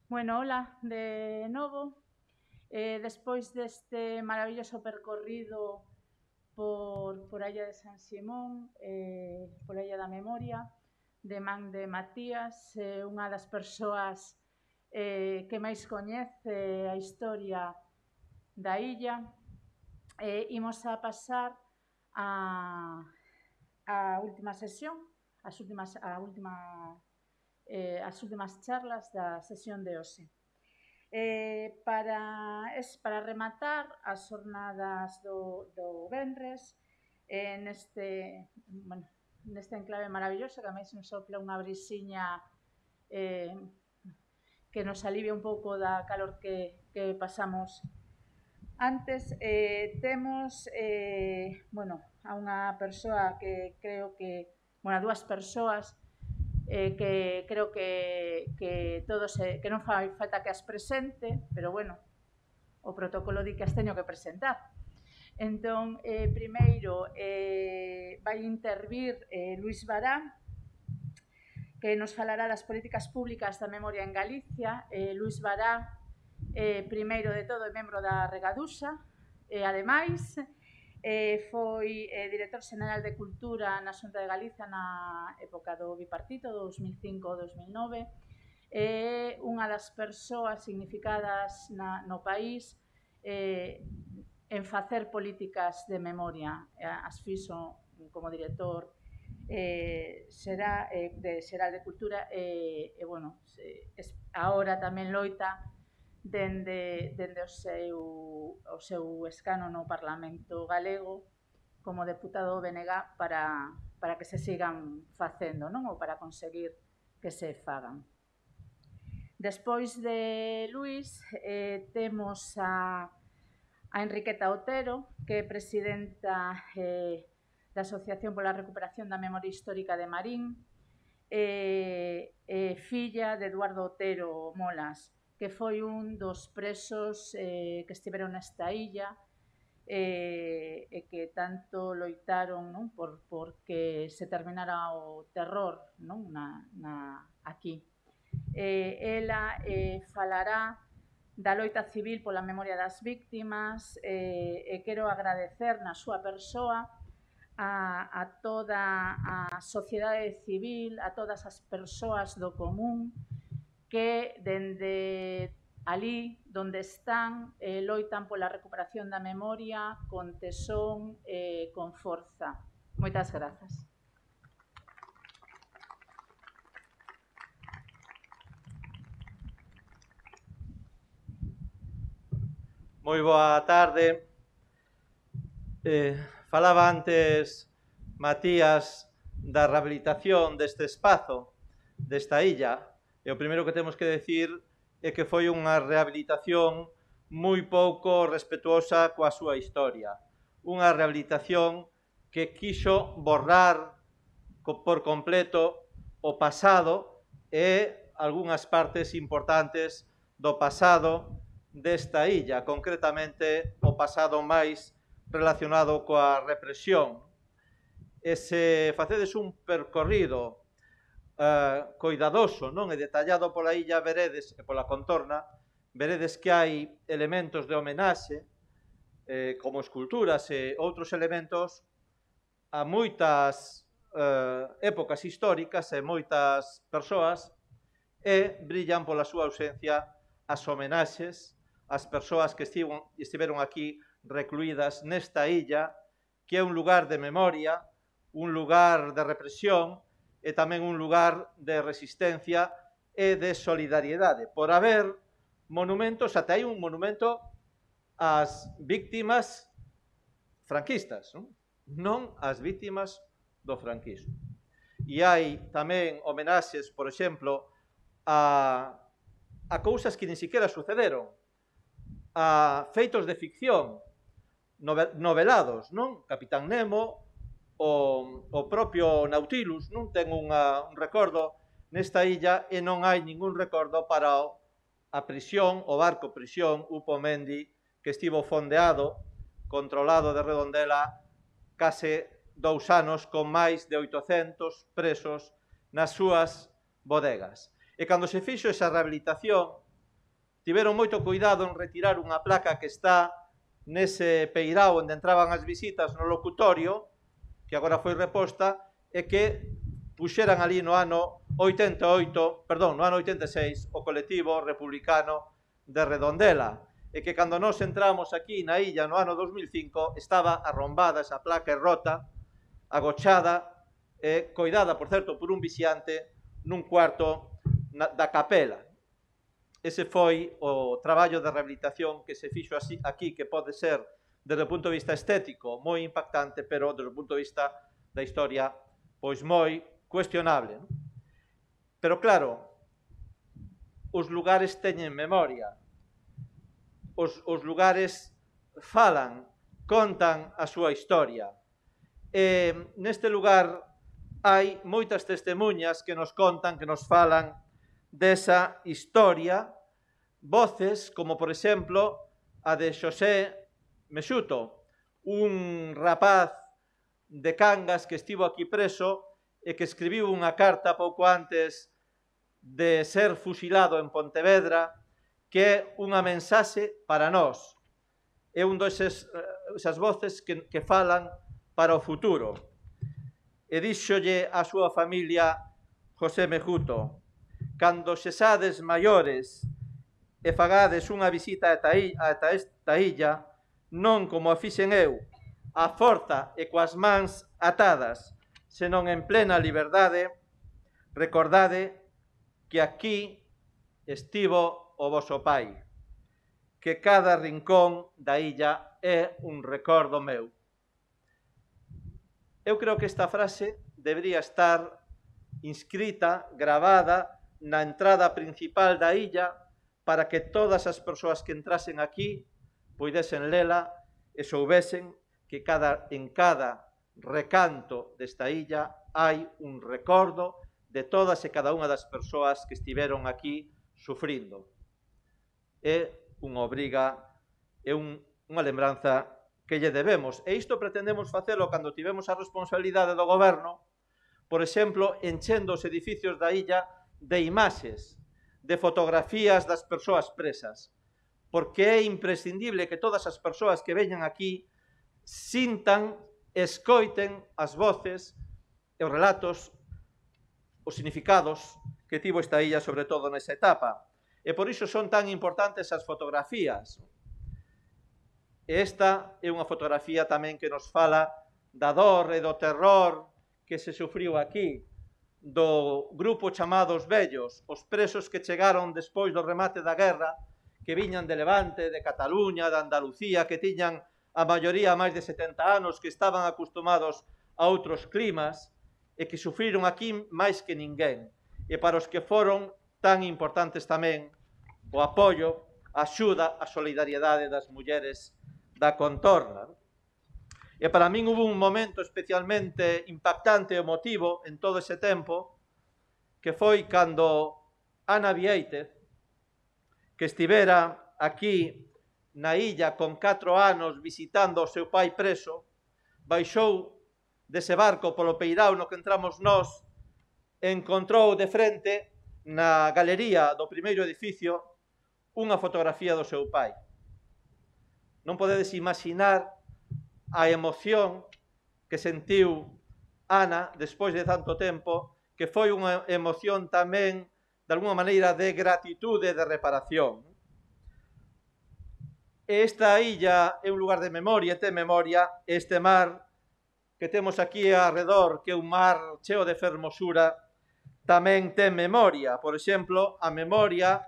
Bueno, hola de novo. Despois deste maravilloso percorrido por a Illa de San Simón, pola Illa da Memoria, de man de Matías, unha das persoas que máis coñece a historia da illa. Imos a pasar a última sesión, as últimas charlas da sesión de hoxe. Para rematar as xornadas do venres, neste enclave maravilloso que a máis nos sopla unha brisiña que nos alivia un pouco da calor que pasamos antes. Temos a unha persoa que creo que, a dúas persoas que creo que todos que non fai falta que as presente, pero bueno, o protocolo di que as teño que presentar. Entón, primeiro vai intervir Luís Bará, que nos falará das políticas públicas da memoria en Galicia. Luís Bará, primeiro de todo, é membro da Regadusa, e ademais foi director xeneral de Cultura na Xunta de Galicia na época do bipartito, 2005-2009. É unha das persoas significadas no país en facer políticas de memoria. As fixo como director xeral de Cultura e agora tamén loita dende o seu escano no Parlamento galego como deputado do BNG para que se sigan facendo, non? Ou para conseguir que se fagan. Despois de Luís, temos a Enriqueta Otero, que é presidenta da Asociación pola Recuperación da Memoria Histórica de Marín, filla de Eduardo Otero Molas, que foi un dos presos que estiveron nesta illa e que tanto loitaron, non, porque se terminara o terror, non, aquí. Ela falará da loita civil pola memoria das víctimas e quero agradecer na súa persoa a toda a sociedade civil, a todas as persoas do común que dende alí donde están loitan pola recuperación da memoria con tesón e con forza. Moitas grazas. Moi boa tarde. Falaba antes Matías da rehabilitación deste espazo, desta illa, e o primeiro que temos que decir é que foi unha rehabilitación moi pouco respetuosa coa súa historia. Unha rehabilitación que quixo borrar por completo o pasado e algunhas partes importantes do pasado desta illa, concretamente o pasado máis relacionado coa represión. E se facedes un percorrido coidadoso, non, e detallado pola illa veredes, e pola contorna, veredes que hai elementos de homenaxe, como esculturas e outros elementos a moitas épocas históricas e moitas persoas, e brillan pola súa ausencia as homenaxes ás persoas que estiveron aquí recluídas nesta illa, que é un lugar de memoria, un lugar de represión e tamén un lugar de resistencia e de solidariedade. Por haber monumentos, ata hai un monumento ás víctimas franquistas, non ás víctimas do franquismo. E hai tamén homenaxes, por exemplo, a cousas que nin siquiera sucederon, a feitos de ficción novelados, non? Capitán Nemo, o propio Nautilus, non? Ten un recordo nesta illa e non hai ningún recordo para a prisión, o barco prisión Upomendi, que estivo fondeado, controlado de Redondela, case 2 anos con máis de 800 presos nas súas bodegas. E cando se fixo esa rehabilitación, tiveron moito cuidado en retirar unha placa que está nese peirao onde entraban as visitas no locutorio, que agora foi reposta, e que puxeran ali no ano 86, o colectivo republicano de Redondela, e que cando nós entramos aquí na illa no ano 2005 estaba arrombada esa placa e rota, agochada e coidada, por certo, por un vixiante nun cuarto da capela. Ese foi o traballo de rehabilitación que se fixo aquí, que pode ser, desde o punto de vista estético, moi impactante, pero desde o punto de vista da historia, pois moi cuestionable. Pero claro, os lugares teñen memoria, os lugares falan, contan a súa historia. E neste lugar hai moitas testemunhas que nos contan, que nos falan desa historia, voces como, por exemplo, a de Xosé Mexuto, un rapaz de Cangas que estivo aquí preso e que escribiu unha carta pouco antes de ser fusilado en Pontevedra, que é unha mensaxe para nós. É un desas voces que falan para o futuro. E díxolle a súa familia José Mexuto: cando sesades maiores e fagades unha visita ata esta illa, non como a fixen eu, a forza e coas mans atadas, senón en plena liberdade, recordade que aquí estivo o voso pai, que cada rincón da illa é un recordo meu. Eu creo que esta frase debería estar inscrita, gravada, na entrada principal da illa, para que todas as persoas que entrasen aquí puidesen lela e soubesen que en cada recanto desta illa hai un recordo de todas e cada unha das persoas que estiveron aquí sufrindo. É unha obriga, é unha lembranza que lle debemos. E isto pretendemos facelo cando tivemos a responsabilidade do goberno, por exemplo, enchendo os edificios da illa de imaxes, de fotografías das persoas presas, porque é imprescindible que todas as persoas que veñan aquí sintan, escoiten as voces e os relatos, os significados que tivo esta illa, sobre todo nesa etapa. E por iso son tan importantes as fotografías. E esta é unha fotografía tamén que nos fala da dor e do terror que se sufriu aquí, do grupo chamados vellos, os presos que chegaron despois do remate da guerra, que viñan de Levante, de Cataluña, de Andalucía, que tiñan a maioría máis de 70 anos, que estaban acostumados a outros climas e que sufriron aquí máis que ninguén. E para os que foron tan importantes tamén o apoio, a axuda, a solidariedade das mulleres da contorna. E para min hubo un momento especialmente impactante e emotivo en todo ese tempo, que foi cando Ana Viéitez, que estivera aquí na illa con 4 anos visitando o seu pai preso, baixou dese barco polo peirao no que entramos nós e encontrou de frente na galería do primeiro edificio unha fotografía do seu pai. Non podedes imaginar a emoción que sentiu Ana despois de tanto tempo, que foi unha emoción tamén, de alguma maneira, de gratitude e de reparación. Esta illa é un lugar de memoria, ten memoria. Este mar que temos aquí arredor, que é un mar cheo de fermosura, tamén ten memoria. Por exemplo, a memoria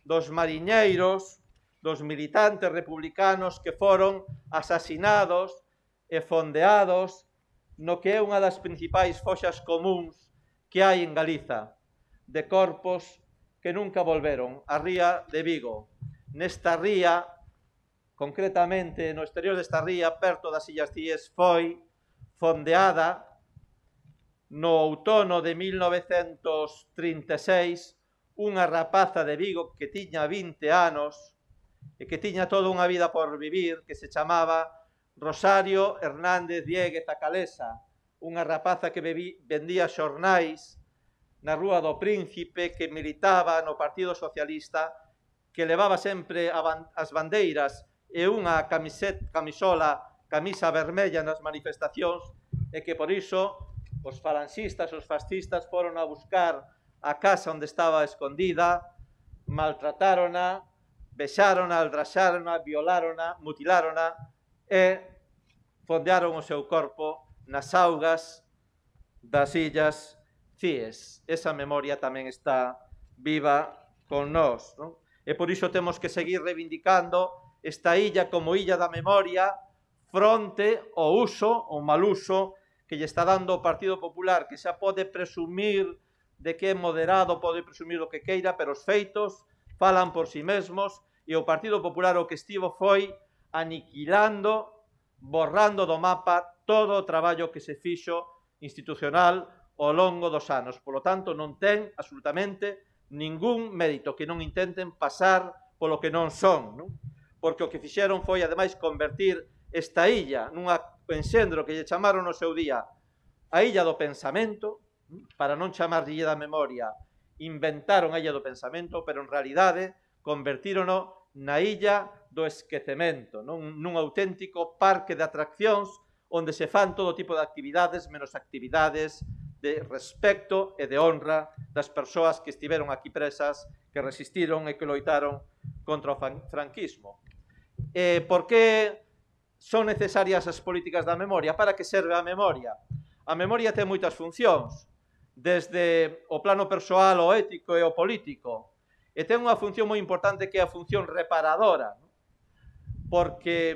dos mariñeiros, dos militantes republicanos que foron asasinados e fondeados no que é unha das principais foxas comuns que hai en Galiza, de corpos que nunca volveron, a ría de Vigo. Nesta ría, concretamente no exterior desta ría, perto das Illas Cíes, foi fondeada no outono de 1936 unha rapaza de Vigo que tiña 20 anos e que tiña toda unha vida por vivir, que se chamaba Rosario Hernández Dieguez Acalesa, unha rapaza que vendía xornais na Rúa do Príncipe, que militaba no Partido Socialista que levaba sempre as bandeiras e unha camisa vermella nas manifestacións, e que por iso os falanxistas, os fascistas foron a buscar a casa onde estaba escondida, maltratárona, vexárona, aldraxárona, violárona, mutilárona e fondearon o seu corpo nas augas das illas Cíes. Esa memoria tamén está viva con nós, non? E por iso temos que seguir reivindicando esta illa como illa da memoria fronte ao uso, ao mal uso que lle está dando o Partido Popular, que xa pode presumir de que é moderado, pode presumir o que queira, pero os feitos falan por si mesmos, e o Partido Popular o que estivo foi aniquilando, borrando do mapa todo o traballo que se fixo institucional ao longo dos anos. Por lo tanto, non ten absolutamente ningún mérito, que non intenten pasar polo que non son, non? Porque o que fixeron foi, ademais, convertir esta illa nunha enxendro que lle chamaron no seu día a illa do pensamento, para non chamar illa da memoria, inventaron a illa do pensamento, pero en realidade convertírono na illa do esquecemento, non? Nun auténtico parque de atraccións onde se fan todo tipo de actividades, menos actividades de respecto e de honra das persoas que estiveron aquí presas, que resistiron e que loitaron contra o franquismo. Por que son necesarias as políticas da memoria? Para que serve a memoria? A memoria ten moitas funcións, desde o plano persoal, o ético e o político, e ten unha función moi importante que é a función reparadora, porque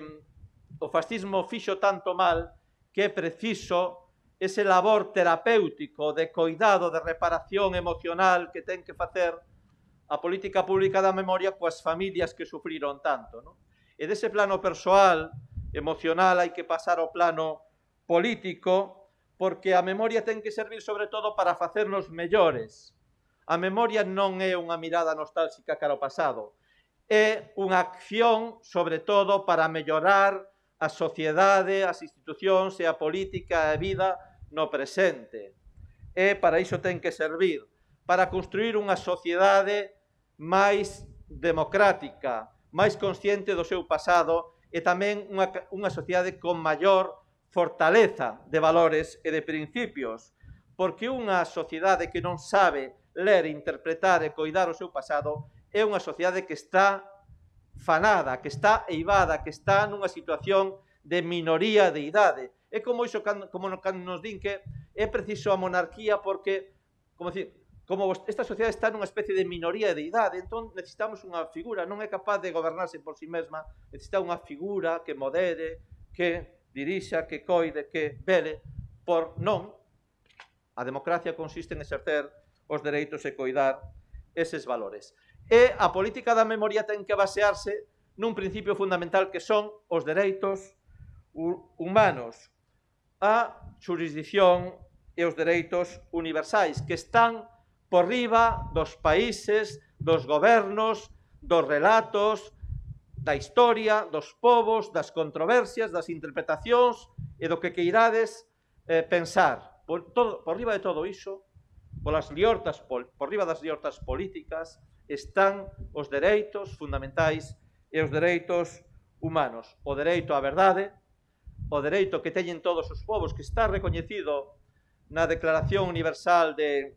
o fascismo fixo tanto mal que é preciso ese labor terapéutico de coidado, de reparación emocional que ten que facer a política pública da memoria coas familias que sufriron tanto, non? E dese plano persoal, emocional, hai que pasar ao plano político, porque a memoria ten que servir sobre todo para facernos mellores. A memoria non é unha mirada nostálxica cara ao pasado, é unha acción, sobre todo, para mellorar a sociedade, as institucións e a política e a vida no presente. E para iso ten que servir, para construir unha sociedade máis democrática, máis consciente do seu pasado e tamén unha sociedade con maior fortaleza de valores e de principios, porque unha sociedade que non sabe ler, interpretar e coidar o seu pasado é unha sociedade que está fanada, que está eivada, que está nunha situación de minoría de idade. É como iso, como nos din que é preciso a monarquía porque, como esta sociedade está nunha especie de minoría de idade, entón necesitamos unha figura, non é capaz de gobernarse por si mesma, necesita unha figura que modere, que dirixa, que coide, que vele, por non. A democracia consiste en exercer os dereitos e coidar eses valores. E a política da memoria ten que basearse nun principio fundamental que son os dereitos humanos, a xurisdicción e os dereitos universais, que están por riba dos países, dos gobernos, dos relatos, da historia, dos povos, das controversias, das interpretacións e do que queirades pensar. Por riba de todo iso, por riba das liortas políticas, están os dereitos fundamentais e os dereitos humanos. O dereito á verdade, o dereito que teñen todos os povos, que está recoñecido na Declaración Universal de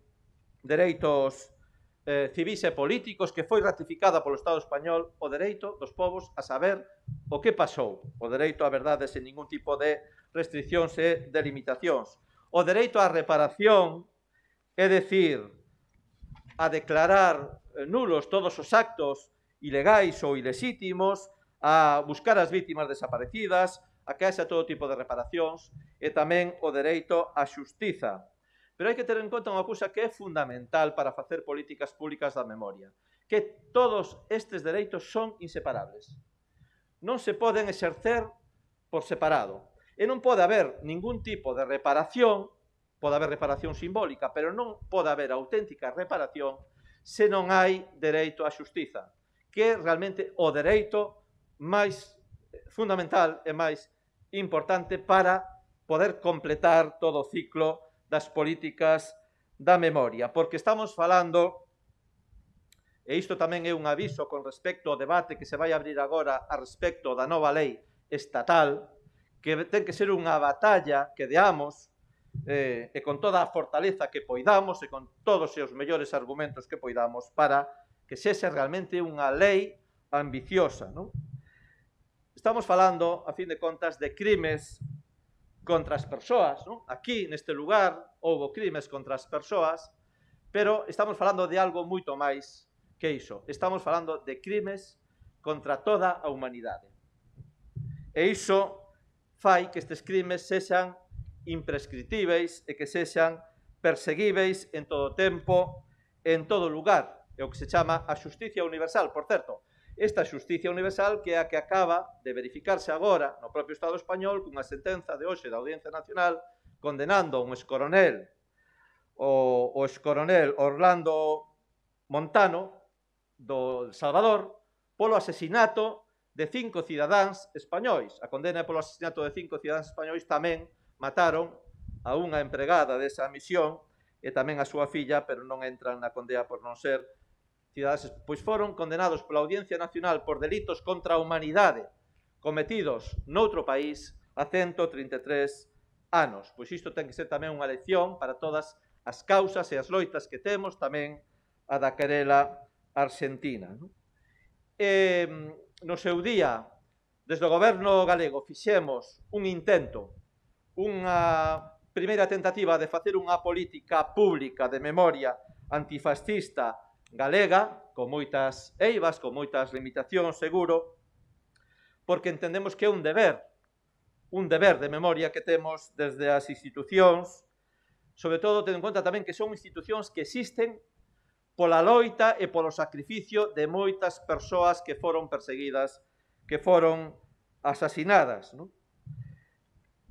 Dereitos Civis e Políticos, que foi ratificada polo Estado español, o dereito dos povos a saber o que pasou, o dereito á verdade sen ningún tipo de restriccións e de limitacións, o dereito á reparación, é dicir, a declarar nulos todos os actos ilegais ou ilexítimos, a buscar as vítimas desaparecidas, a que haxa todo tipo de reparacións e tamén o dereito á xustiza. Pero hai que ter en conta unha cousa que é fundamental para facer políticas públicas da memoria, que todos estes dereitos son inseparables. Non se poden exercer por separado. E non pode haber ningún tipo de reparación, pode haber reparación simbólica, pero non pode haber auténtica reparación se non hai dereito á xustiza, que é realmente o dereito máis fundamental e máis importante para poder completar todo o ciclo das políticas da memoria, porque estamos falando e isto tamén é un aviso con respecto ao debate que se vai abrir agora a respecto da nova lei estatal, que ten que ser unha batalla que deamos e con toda a fortaleza que poidamos e con todos os mellores argumentos que poidamos para que sexa realmente unha lei ambiciosa, non? Estamos falando, a fin de contas, de crimes contra as persoas, non? Aquí, neste lugar, houbo crimes contra as persoas, pero estamos falando de algo moito máis que iso. Estamos falando de crimes contra toda a humanidade. E iso fai que estes crimes sexan imprescritíveis e que sexan perseguíveis en todo tempo, en todo lugar. É o que se chama a xusticia universal. Por certo, esta xusticia universal que é a que acaba de verificarse agora no propio Estado español cunha sentenza de hoxe da Audiencia Nacional condenando a un excoronel, o excoronel Orlando Montano do Salvador polo asesinato de 5 cidadáns españois. A condena polo asesinato de 5 cidadáns españois tamén mataron a unha empregada desa misión e tamén a súa filla, pero non entran na condena por non ser cidadáns, pois foron condenados pola Audiencia Nacional por delitos contra a humanidade cometidos noutro país a 133 anos. Pois isto ten que ser tamén unha lección para todas as causas e as loitas que temos, tamén a da querela argentina. E no seu día, desde o goberno galego, fixemos un intento, unha primeira tentativa de facer unha política pública de memoria antifascista galega, con moitas eivas, con moitas limitacións, seguro, porque entendemos que é un deber de memoria que temos desde as institucións, sobre todo tendo en conta tamén que son institucións que existen pola loita e polo sacrificio de moitas persoas que foron perseguidas, que foron asasinadas, non?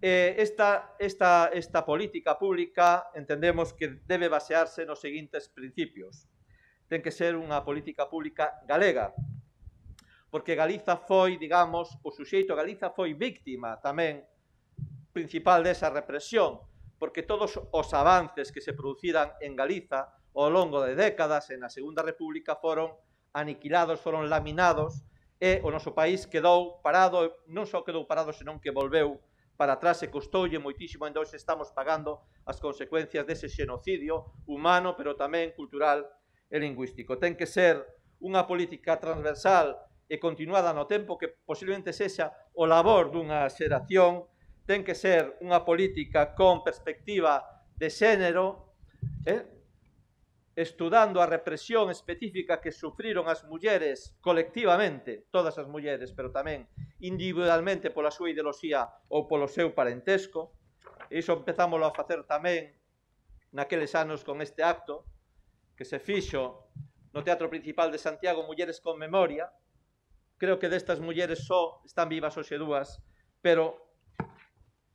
Esta política pública entendemos que debe basearse nos seguintes principios. Ten que ser unha política pública galega, porque Galiza foi, digamos, o suxeito, Galiza foi víctima tamén principal desa represión, porque todos os avances que se produciran en Galiza ao longo de décadas en a Segunda República foron aniquilados, foron laminados, e o noso país quedou parado, non só quedou parado, senón que volveu para atrás e custoulle moitísimo, e hoxe estamos pagando as consecuencias dese xenocidio humano, pero tamén cultural e lingüístico. Ten que ser unha política transversal e continuada no tempo, que posiblemente sexa o labor dunha xeración. Ten que ser unha política con perspectiva de xénero, estudando a represión específica que sufriron as mulleres colectivamente, todas as mulleres, pero tamén individualmente pola súa ideoloxía ou polo seu parentesco. E iso empezámoslo a facer tamén naqueles anos con este acto que se fixo no Teatro Principal de Santiago, Mulleres con Memoria. Creo que destas mulleres só están vivas hoxe dúas, pero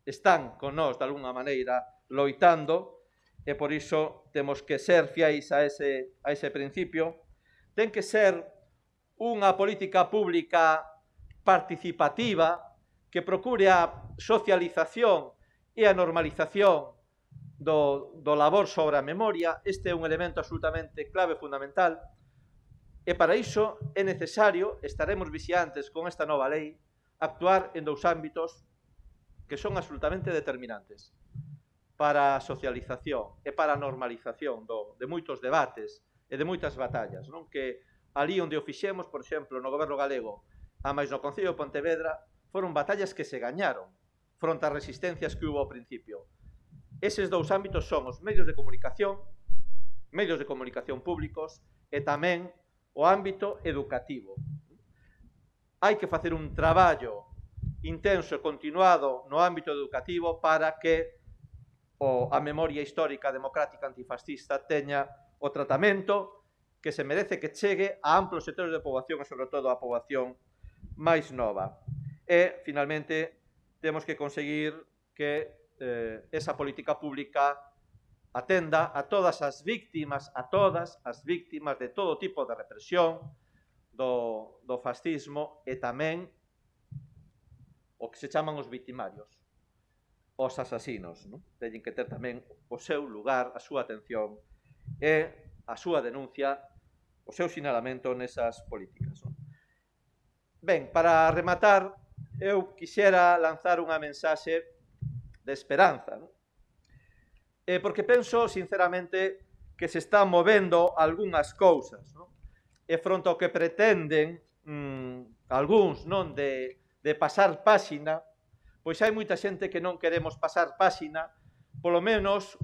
están con nós de alguna maneira loitando, e por iso temos que ser fiáis a ese principio. Ten que ser unha política pública participativa que procure a socialización e a normalización do labor sobre a memoria. Este é un elemento absolutamente clave, fundamental, e para iso é necesario, estaremos vixiantes con esta nova lei, actuar en 2 ámbitos que son absolutamente determinantes para a socialización e para a normalización de moitos debates e de moitas batallas, non? Que ali onde o fixemos, por exemplo, no goberno galego, a máis no Concello de Pontevedra, foron batallas que se gañaron fronte ás resistencias que hubo ao principio. Eses 2 ámbitos son os medios de comunicación públicos, e tamén o ámbito educativo. Hai que facer un traballo intenso e continuado no ámbito educativo para que a memoria histórica democrática antifascista teña o tratamento que se merece, que chegue a amplos sectores de poboación e, sobre todo, a poboación máis nova. E, finalmente, temos que conseguir que esa política pública atenda a todas as víctimas, de todo tipo de represión, do fascismo, e tamén o que se chaman os victimarios, os asasinos, non? Teñen que ter tamén o seu lugar, a súa atención e a súa denuncia o seu sinalamento nesas políticas. Ben, para rematar, eu quixera lanzar unha mensaxe de esperanza, porque penso, sinceramente, que se están movendo algunhas cousas, e fronte ao que pretenden algúns de pasar páxina, pois hai moita xente que non queremos pasar páxina, polo menos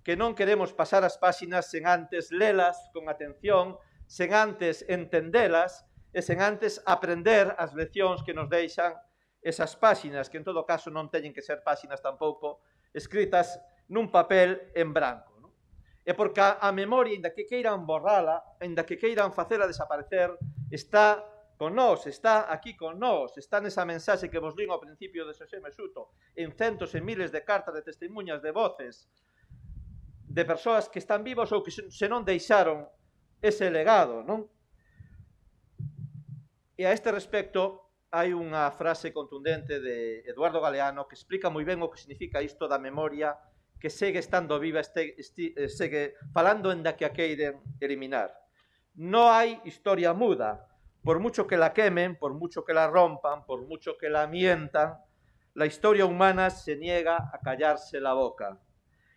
que non queremos pasar as páxinas sen antes lelas con atención, sen antes entendelas e sen antes aprender as leccións que nos deixan esas páxinas, que en todo caso non teñen que ser páxinas tampouco escritas nun papel en branco. E porque a memoria, inda que queiran borrala, inda que queiran facela desaparecer, está con nós, está aquí con nós, está nesa mensaxe que vos lín ao principio de Xosé Mesuto, en centos e miles de cartas de testemunhas de voces de persoas que están vivos ou que se non deixaron ese legado, non? E a este respecto hai unha frase contundente de Eduardo Galeano que explica moi ben o que significa isto da memoria que segue estando viva, segue falando en da que a queiren eliminar. Non hai historia muda, por mucho que la quemen, por mucho que la rompan, por mucho que la mientan, la historia humana se niega a callarse la boca.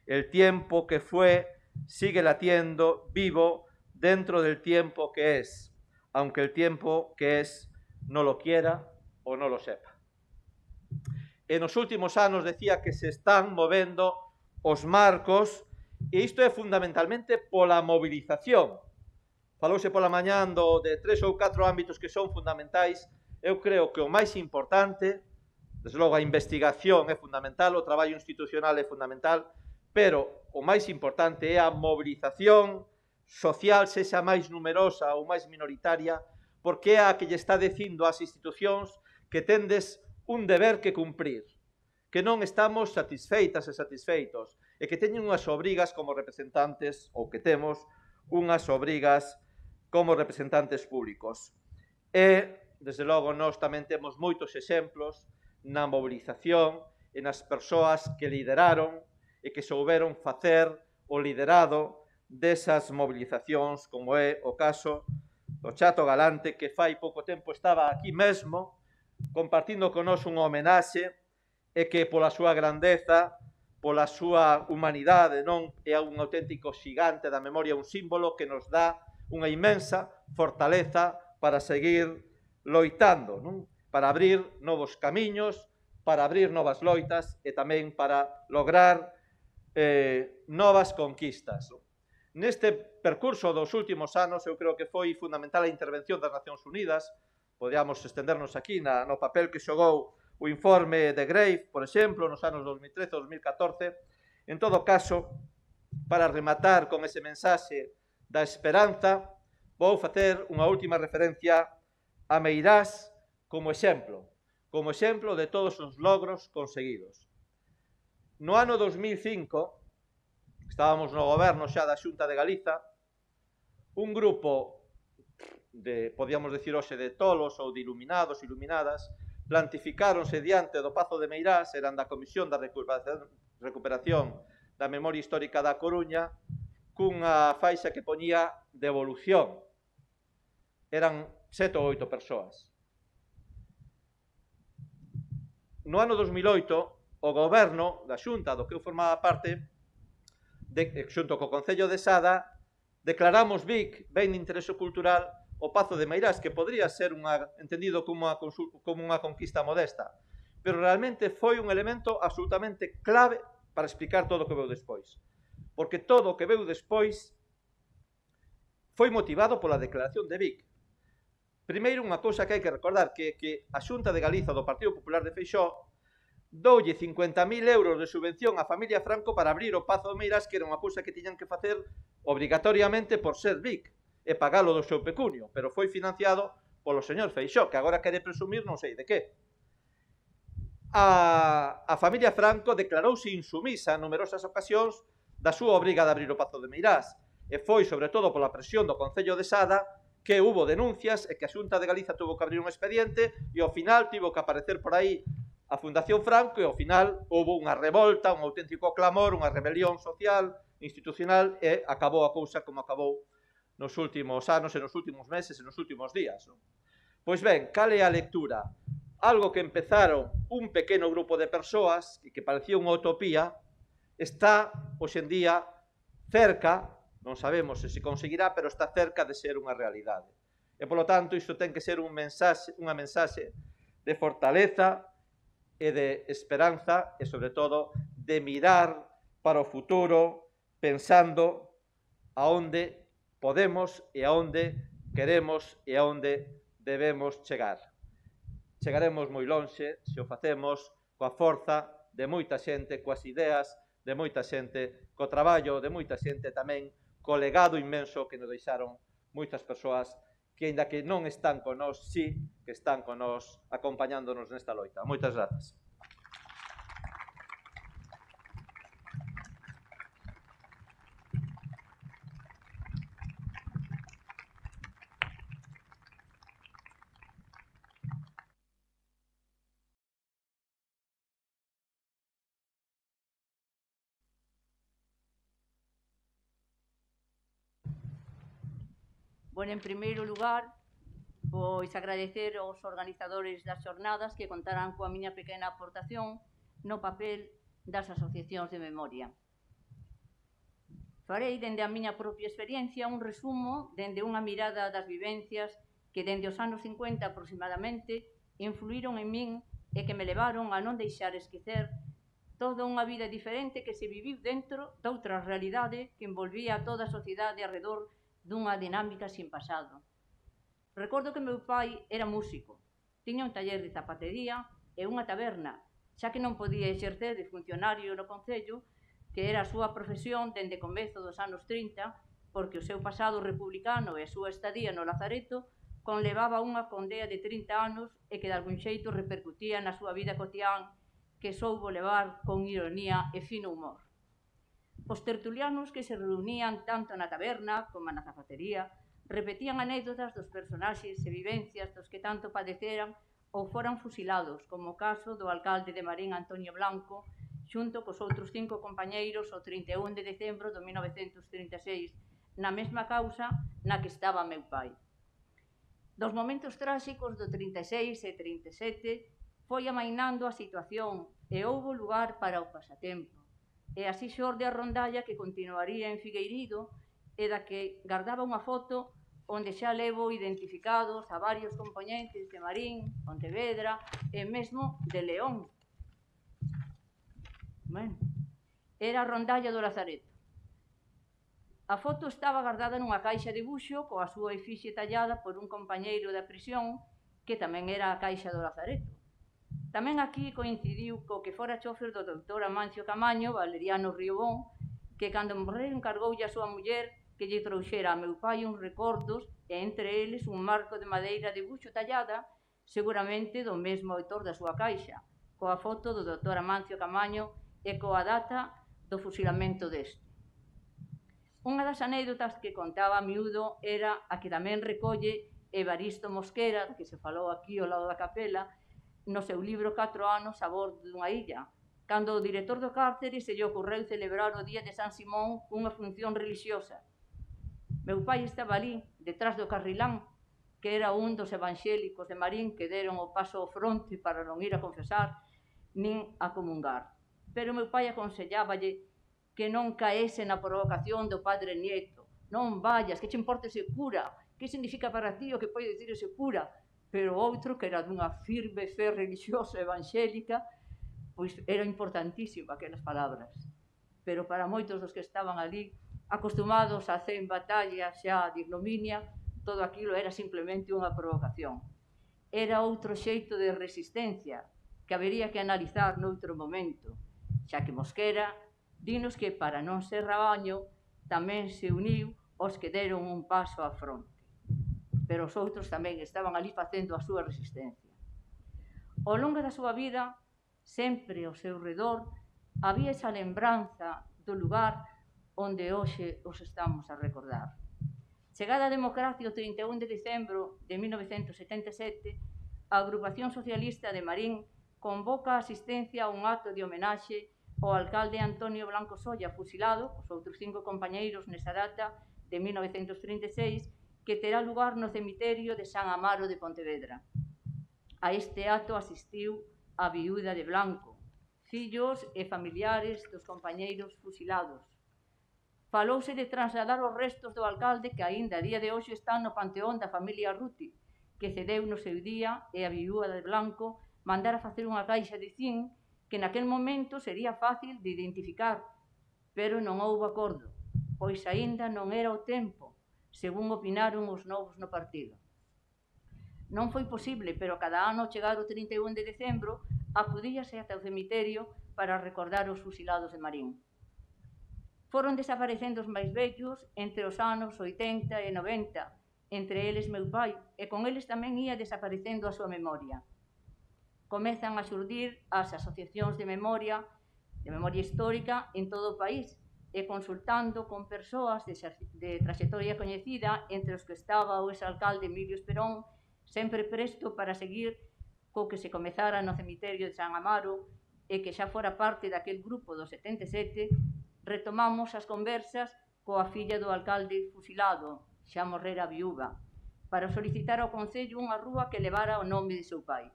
El tiempo que fue sigue latiendo vivo dentro del tiempo que es, aunque el tiempo que es no lo quiera o no lo sepa. En os últimos anos decía que se están movendo os marcos, e isto é fundamentalmente pola movilización. Falouse pola mañán de 3 ou 4 ámbitos que son fundamentais. Eu creo que o máis importante, desde logo a investigación é fundamental, o traballo institucional é fundamental, pero o máis importante é a movilización social, sexa máis numerosa ou máis minoritaria, porque é a que lle está dicindo ás institucións que tendes un deber que cumprir, que non estamos satisfeitas e satisfeitos, e que teñen unhas obrigas como representantes, ou que temos unhas obrigas como representantes públicos. E, desde logo, nós tamén temos moitos exemplos na movilización e nas persoas que lideraron e que souberon facer o liderado desas movilizacións, como é o caso do Chato Galante, que fai pouco tempo estaba aquí mesmo, compartindo con nós unha homenaxe, e que pola súa grandeza, pola súa humanidade, non é un auténtico xigante da memoria, un símbolo que nos dá unha inmensa fortaleza para seguir loitando, non? Para abrir novos camiños, para abrir novas loitas e tamén para lograr novas conquistas. Neste percurso dos últimos anos, eu creo que foi fundamental a intervención das Nacións Unidas. Podíamos estendernos aquí no papel que xogou o informe de Grave, por exemplo, nos anos 2013 ou 2014. En todo caso, para rematar con ese mensaxe da esperanza, vou facer unha última referencia a Meirás como exemplo de todos os logros conseguidos. No ano 2005, estábamos no goberno xa da Xunta de Galiza, un grupo de, podíamos decir hoxe, de tolos ou de iluminados, iluminadas, plantificáronse diante do Pazo de Meirás, eran da Comisión da Recuperación da Memoria Histórica da Coruña, cunha faixa que poñía devolución. Eran 7 ou 8 persoas. No ano 2008, o goberno da Xunta, do que eu formaba parte, xunto co Concello de Sada, declaramos Vic ben de interese cultural o Pazo de Meirás, que podría ser entendido como unha conquista modesta, pero realmente foi un elemento absolutamente clave para explicar todo o que veu despois. Porque todo o que veu despois foi motivado pola declaración de Vic. Primeiro, unha cousa que hai que recordar, que a Xunta de Galiza do Partido Popular de Feixóo doulle 50.000 euros de subvención á familia Franco para abrir o Pazo de Meirás, que era unha cousa que tiñan que facer obrigatoriamente por ser Vic e pagalo do seu pecunio, pero foi financiado polo señor Feixóo, que agora quere presumir non sei de que. A familia Franco declarouse insumisa en numerosas ocasións da súa obriga de abrir o Pazo de Meirás, e foi sobre todo pola presión do Concello de Sada que hubo denuncias e que a Xunta de Galiza tuvo que abrir un expediente e ao final tivo que aparecer por aí a Fundación Franco e ao final houve unha revolta, un auténtico clamor, unha rebelión social, institucional, e acabou a cousa como acabou nos últimos anos e nos últimos meses e nos últimos días. Pois ben, cal é a lectura? Algo que empezaron un pequeno grupo de persoas e que parecía unha utopía, está, hoxe en día, cerca, non sabemos se se conseguirá, pero está cerca de ser unha realidade. E, polo tanto, isto ten que ser unha mensaxe de fortaleza e de esperanza e, sobre todo, de mirar para o futuro pensando aonde podemos e aonde queremos e aonde debemos chegar. Chegaremos moi lonxe se o facemos coa forza de moita xente, coas ideas de moita xente, co traballo de moita xente tamén, co legado inmenso que nos deixaron moitas persoas que, aínda que non están con nós, sí que están con nós acompañándonos nesta loita. Moitas grazas. Bueno, en primeiro lugar, pois agradecer aos organizadores das xornadas que contarán coa miña pequena aportación no papel das asociacións de memoria. Farei, dende a miña propia experiencia, un resumo dende unha mirada das vivencias que dende os anos 50 aproximadamente influíron en min e que me levaron a non deixar esquecer toda unha vida diferente que se viviu dentro doutra realidade que envolvía a toda a sociedade arredor dunha dinámica sin pasado. Recordo que meu pai era músico, tiña un taller de zapatería e unha taberna, xa que non podía exercer de funcionario no Concello, que era a súa profesión dende comezo dos anos 30, porque o seu pasado republicano e a súa estadía no Lazareto conlevaba unha condea de 30 anos e que de algún xeito repercutía na súa vida cotián, que soubo levar con ironía e fino humor. Os tertulianos que se reunían tanto na taberna como na zapatería repetían anécdotas dos personaxes e vivencias dos que tanto padeceran ou foran fusilados, como o caso do alcalde de Marín, Antonio Blanco, xunto cos outros 5 compañeiros o 31 de decembro de 1936, na mesma causa na que estaba meu pai. Dos momentos tráxicos do 36 e 37 foi amainando a situación e houbo lugar para o pasatempo. E así xorde a rondalla que continuaría en Figueirido e da que guardaba unha foto onde xa levo identificados a varios componentes de Marín, Pontevedra e mesmo de León. Bueno, era a rondalla do Lazareto. A foto estaba guardada nunha caixa de buxo coa súa efixe tallada por un compañeiro da prisión que tamén era a caixa do Lazareto. Tamén aquí coincidiu co que fora chofer do doutor Amancio Camaño, Valeriano Riobón, que cando morreu encargoulle a súa muller que lle trouxera a meu pai uns recordos e entre eles un marco de madeira de buxo tallada, seguramente do mesmo autor da súa caixa, coa foto do doutor Amancio Camaño e coa data do fusilamento deste. Unha das anécdotas que contaba a miúdo era a que tamén recolle Evaristo Mosquera, que se falou aquí ao lado da capela, no seu libro 4 anos a bordo dunha illa, cando o director do cárcere se lle ocorreu celebrar o día de San Simón cunha función religiosa. Meu pai estaba ali, detrás do carrilán, que era un dos evangélicos de Marín que deron o paso ao fronte para non ir a confesar nin a comungar. Pero meu pai aconselláballe que non caese na provocación do padre Nieto. Non vayas, que che importa ese cura? Que significa para ti o que pode dicir ese cura? Pero outro, que era dunha firme fe religiosa evangélica, pois era importantísimo aquelas palabras. Pero para moitos dos que estaban ali, acostumados a hacer batallas xa de ignominia, todo aquilo era simplemente unha provocación. Era outro xeito de resistencia que habería que analizar noutro momento, xa que Mosquera dinos que para non ser rabaño tamén se uniu os que deron un paso á fronte. Pero os outros tamén estaban ali facendo a súa resistencia. Ao longo da súa vida, sempre ao seu redor, había esa lembranza do lugar onde hoxe os estamos a recordar. Chegada a democracia o 31 de decembro de 1977, a Agrupación Socialista de Marín convoca a asistencia a un acto de homenaxe ao alcalde Antonio Blanco Solla, fusilado, os outros 5 compañeiros nesa data, de 1936 que terá lugar no cemiterio de San Amaro de Pontevedra. A este acto asistiu a viúda de Blanco, fillos e familiares dos compañeiros fusilados. Falouse de trasladar os restos do alcalde que aínda a día de hoxe están no panteón da familia Ruti, que cedeu no seu día e a viúva de Blanco mandara facer unha caixa de zinc que naquel momento sería fácil de identificar, pero non houbo acordo, pois aínda non era o tempo, según opinaron os novos no partido. Non foi posible, pero cada ano chegar o 31 de decembro acudíase ata o cemiterio para recordar os fusilados de Marín. Foron desaparecendo os máis vellos entre os anos 80 e 90, entre eles meu pai, e con eles tamén ia desaparecendo a súa memoria. Comezan a xurdir as asociacións de memoria histórica en todo o país, e consultando con persoas de traxectoria coñecida, entre os que estaba o exalcalde Emilio Esperón, sempre presto para seguir co que se comezara no cemiterio de San Amaro e que xa fora parte daquel grupo do 77, retomamos as conversas coa filla do alcalde fusilado, xa morrera viúva, para solicitar ao Concello unha rúa que levara o nome de seu pai.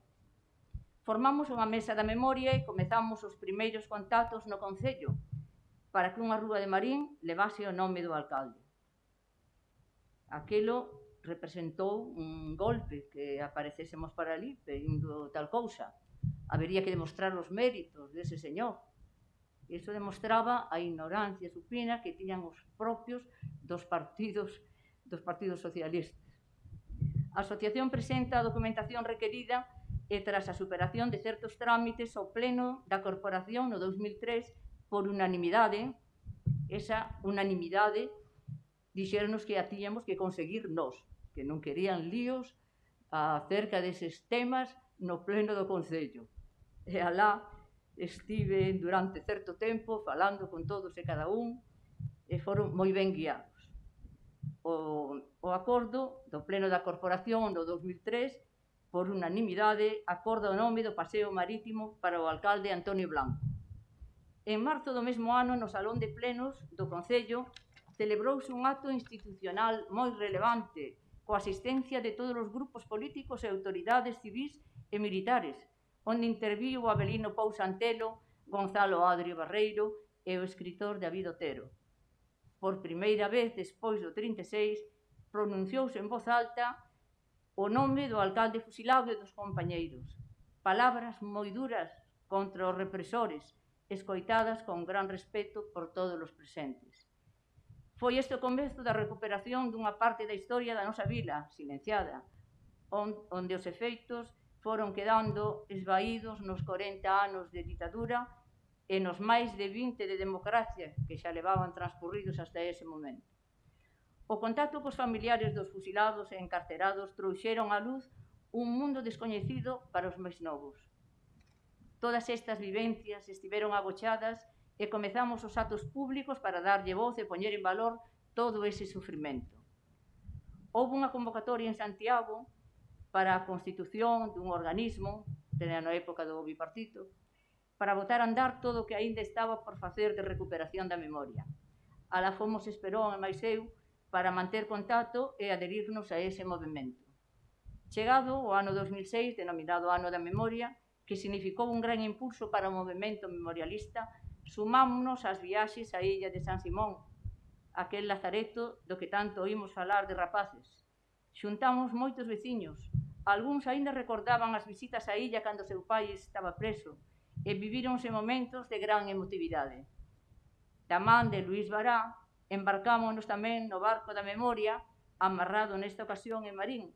Formamos unha mesa da memoria e comezamos os primeiros contactos no Concello para que unha rúa de Marín levase o nome do alcalde. Aquilo representou un golpe que aparecésemos para ali pedindo tal cousa. Habería que demostrar os méritos dese señor. Iso demostraba a ignorancia supina que tiñan os propios dos partidos socialistas. A asociación presenta a documentación requerida e tras a superación de certos trámites ao pleno da corporación no 2003 por unanimidade, esa unanimidade dixéronos que a tiñamos que conseguir nós, que non querían líos acerca deses temas no pleno do Concello. E alá estive durante certo tempo falando con todos e cada un e foron moi ben guiados. O acordo do pleno da corporación no 2003, por unanimidade, acorda o nome do paseo marítimo para o alcalde Antonio Blanco. En marzo do mesmo ano, no Salón de Plenos do Concello, celebrouse un acto institucional moi relevante coa asistencia de todos os grupos políticos e autoridades civís e militares, onde interviu o Avelino Pousa Antelo, Gonzalo Adrio Barreiro e o escritor David Otero. Por primeira vez, despois do 36, pronunciouse en voz alta o nome do alcalde fusilado e dos compañeiros. Palabras moi duras contra os represores, escoitadas con gran respeto por todos os presentes. Foi este o comezo da recuperación dunha parte da historia da nosa vila, silenciada, onde os efeitos foron quedando esvaídos nos 40 anos de ditadura e nos máis de 20 de democracia que xa levaban transcurridos hasta ese momento. O contacto cos familiares dos fusilados e encarcerados trouxeron á luz un mundo descoñecido para os máis novos. Todas estas vivencias estiveron agochadas e comezamos os actos públicos para darlle voz e poñer en valor todo ese sufrimento. Houve unha convocatoria en Santiago para a constitución dun organismo, na época do bipartito, para botar a andar todo o que aínda estaba por facer de recuperación da memoria. Alá fomos Esperón e máis eu para manter contacto e adherirnos a ese movimento. Chegado o ano 2006, denominado Ano da Memoria, que significou un gran impulso para o movimento memorialista, sumámonos ás viaxes á illa de San Simón, aquel lazareto do que tanto oímos falar de rapaces. Xuntamos moitos veciños, algúns aínda recordaban as visitas á illa cando seu pai estaba preso, e vivíronse momentos de gran emotividade. Da man de Luís Bará, embarcámonos tamén no barco da memoria, amarrado nesta ocasión en Marín,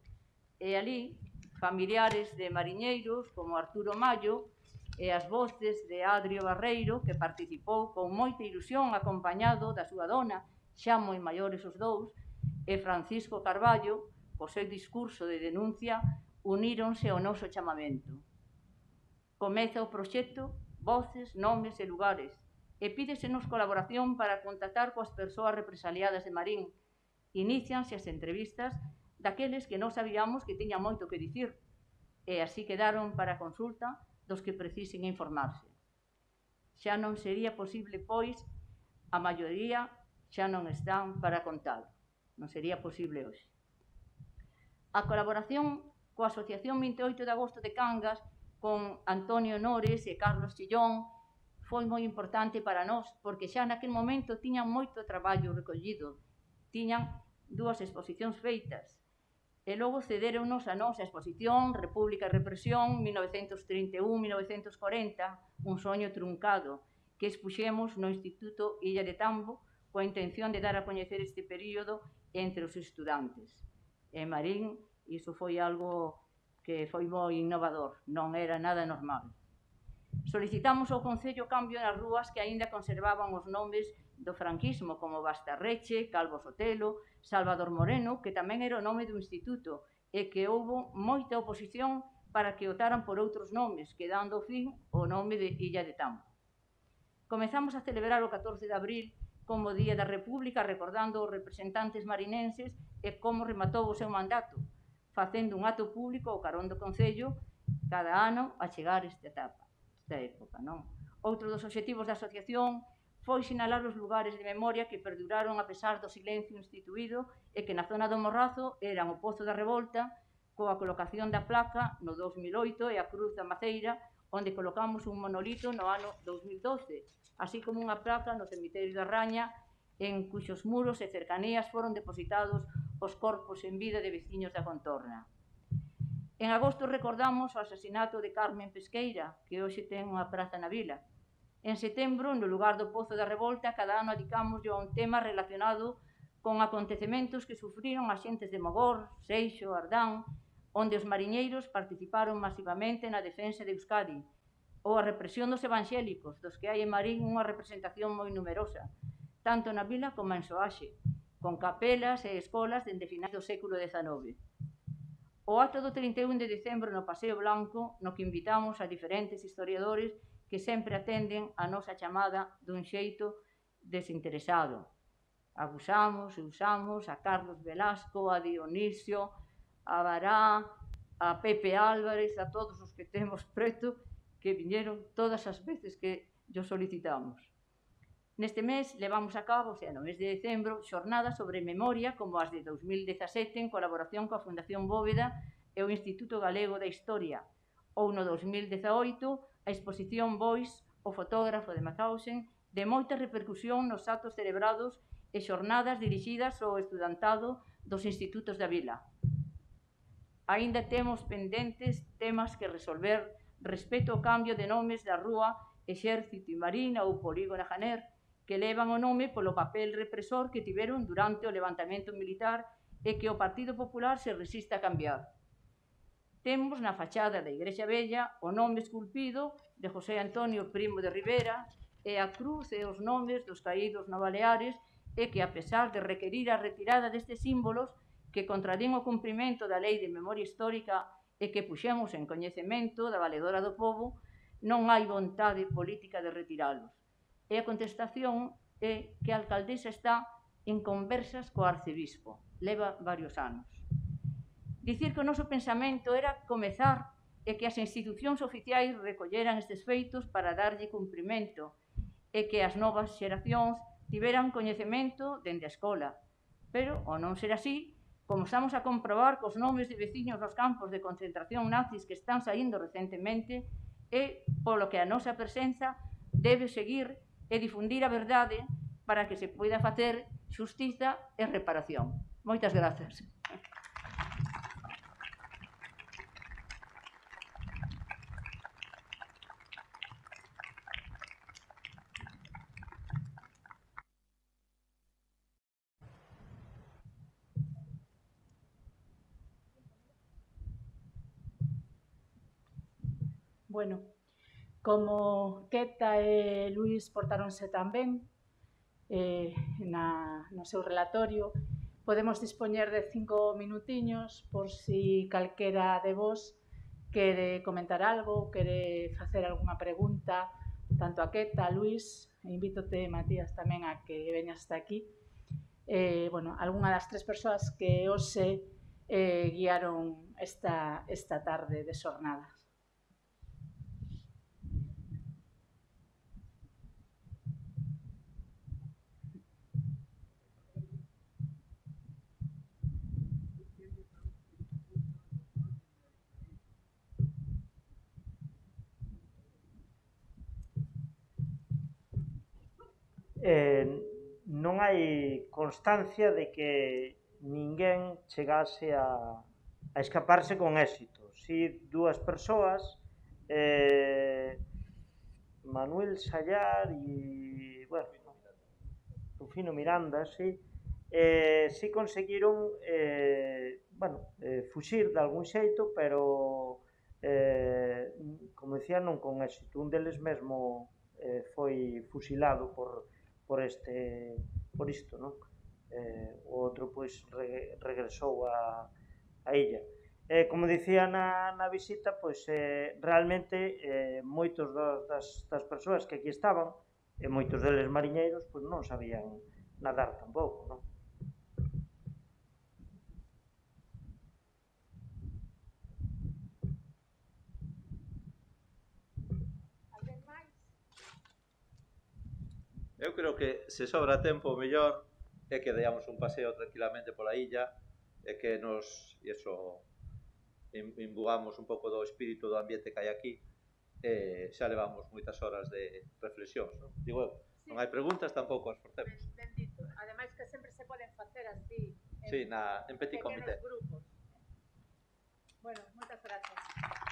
e ali, familiares de mariñeiros como Arturo Mallo, e as voces de Adrio Barreiro, que participou con moita ilusión acompañado da súa dona, xa moi maiores os dous, e Francisco Carballo, co seu discurso de denuncia, uníronse ao noso chamamento. Comeza o proxecto Voces, Nomes e Lugares, e pídesenos colaboración para contactar coas persoas represaliadas de Marín. Inicianse as entrevistas daqueles que non sabíamos que tiñan moito que dicir, e así quedaron para consulta dos que precisen informarse. Xa non sería posible, pois, a maioría xa non están para contalo. non sería posible hoxe. A colaboración coa Asociación 28 de Agosto de Cangas, con Antonio Nores e Carlos Chillón, foi moi importante para nós, porque xa naquel momento tiñan moito traballo recollido, tiñan 2 exposicións feitas, e logo cederonos a nosa exposición República e Represión 1931-1940, un soño truncado, que expuxemos no Instituto Illa de Tambo coa intención de dar a coñecer este período entre os estudantes. E Marín, iso foi algo que foi moi innovador, non era nada normal. Solicitamos ao Concello cambio nas rúas que aínda conservaban os nomes do franquismo, como Bastarreche, Calvo Sotelo, Salvador Moreno, que tamén era o nome do instituto, e que houbo moita oposición para que optaran por outros nomes, quedando fin o nome de Illa de Tambo. Comezamos a celebrar o 14 de abril como Día da República, recordando os representantes marinenses e como rematou o seu mandato, facendo un acto público ao carón do Concello cada ano a chegar esta época, non? Outro dos obxectivos da asociación foi sinalar os lugares de memoria que perduraron a pesar do silencio instituído e que na zona do Morrazo eran o Pozo da Revolta, coa colocación da placa no 2008 e a Cruz da Maceira, onde colocamos un monolito no ano 2012, así como unha placa no cemiterio da Raña, en cuxos muros e cercanías foron depositados os corpos en vida de veciños da contorna. En agosto recordamos o asasinato de Carmen Pesqueira, que hoxe ten unha praza na vila. En setembro, no lugar do Pozo da Revolta, cada ano dedicamos a un tema relacionado con acontecementos que sufriron as xentes de Mogor, Seixo, Ardán, onde os mariñeiros participaron masivamente na defensa de Euskadi, ou a represión dos evangélicos, dos que hai en Marín unha representación moi numerosa, tanto na vila como en Soaxe, con capelas e escolas dende finais do século XIX. O acto do 31 de decembro no Paseo Blanco, no que invitamos a diferentes historiadores que sempre atenden a nosa chamada dun xeito desinteresado. Abusamos e usamos a Carlos Velasco, a Dionisio, a Bará, a Pepe Álvarez, a todos os que temos preto, que viñeron todas as veces que yo solicitamos. Neste mes levamos a cabo, o sea, no mes de decembro, xornadas sobre memoria como as de 2017 en colaboración coa Fundación Bóveda e o Instituto Galego da Historia, ou no 2018 a exposición Bois, o fotógrafo de Mauthausen, de moita repercusión nos actos celebrados e xornadas dirixidas ao estudantado dos institutos da vila. Aínda temos pendentes temas que resolver respecto ao cambio de nomes da rúa Exército e Marina ou Polígono Janer, que levan o nome polo papel represor que tiveron durante o levantamento militar e que o Partido Popular se resiste a cambiar. Temos na fachada da Igrexa Vella o nome esculpido de José Antonio Primo de Rivera e a cruz e os nomes dos caídos no Baleares, e que, a pesar de requerir a retirada destes símbolos que contradín o cumprimento da Lei de Memoria Histórica e que puxemos en coñecemento da Valedora do Pobo, non hai vontade política de retiralos. E a contestación é que a alcaldesa está en conversas co arcebispo. Leva varios anos. Dicir que o noso pensamento era comezar e que as institucións oficiais recolleran estes feitos para darlle cumprimento e que as novas xeracións tiveran coñecemento dende a escola. Pero, ao non ser así, como estamos a comprobar cos nomes de veciños nos campos de concentración nazis que están saindo recentemente, é polo que a nosa presenza debe seguir e difundir a verdade para que se poida facer xustiza e reparación. Moitas grazas. Bueno, como Queta e Luís portáronse tan ben no seu relatorio, podemos dispoñer de 5 minutiños por si calquera de vos quere comentar algo, quere facer algunha pregunta, tanto a Queta, a Luís, e invítote, Matías, tamén a que veñas hasta aquí. Bueno, algunha das 3 persoas que hoxe guiaron esta tarde de xornadas. non hai constancia de que ninguén chegase a escaparse con éxito. Si dúas persoas, Manuel Sallar e, bueno, Rufino Miranda, si conseguiron, fuxir de algún xeito, pero, como dicía, non con éxito. Un deles mesmo foi fusilado por isto, non? O outro, pois, regresou a illa. Como dicía na visita, pois, realmente, moitos das persoas que aquí estaban, e moitos deles mariñeiros, pois non sabían nadar tampouco, non? Alguén máis? Eu creo que se sobra tempo, o mellor é que deamos un paseo tranquilamente pola illa e que nos imbugamos un pouco do espírito do ambiente que hai aquí e xa levamos moitas horas de reflexións, non? Digo eu, non hai preguntas, tampouco as forcemos. Bendito. Ademais que sempre se poden facer así Sí, en petit comité. grupos. Bueno, moitas grazas.